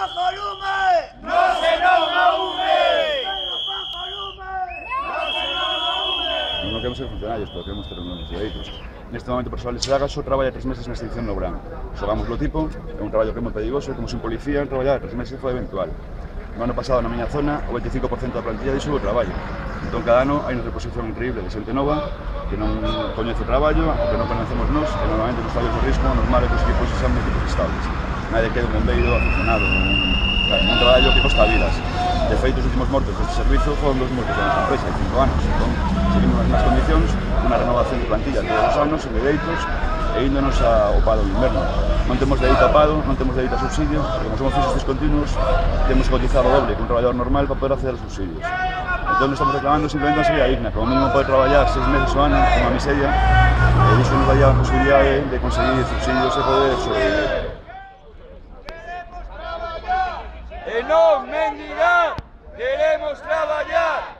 bajo lume! Non se non aume! Non queremos ser funcionarios, pero queremos ter uns dereitos. Neste momento, o persoal de Sagaso traballa 3 meses na extinción no verán. Xogamos lo tipo, é un traballo que é moi perigoso, como se un policía traballar 3 meses foi eventual. No ano pasado, na miña zona, o 25% da plantilla deixou o traballo. Entón, cada ano hai unha reposición increíble de xente nova que non coñece o traballo, o que non conocemos nós, e normalmente nos traballos de risco, normal é que os equipos sean equipos estables. Nadie quede un bombeiro aficionado, un traballo que costa vidas. De feito, os últimos mortos deste servizo foron 2 mortos da nosa empresa, de 5 anos. Entón, seguimos nas mesmas condicións, unha renovación de plantilla todos os anos, en dereitos, e índonos ao paro de inverno. Non temos dereito a paro, non temos dereito a subsidio, porque como somos fixos discontinuos, temos que cotizar o doble que un traballador normal para poder acceder aos subsidios. Entón, estamos reclamando simplemente unha serie digna, como mínimo poder traballar 6 meses ao ano, como a miseria, e iso nos daría a posibilidade de conseguir subsidios e poder sobreviver. E non mendigar, queremos traballar!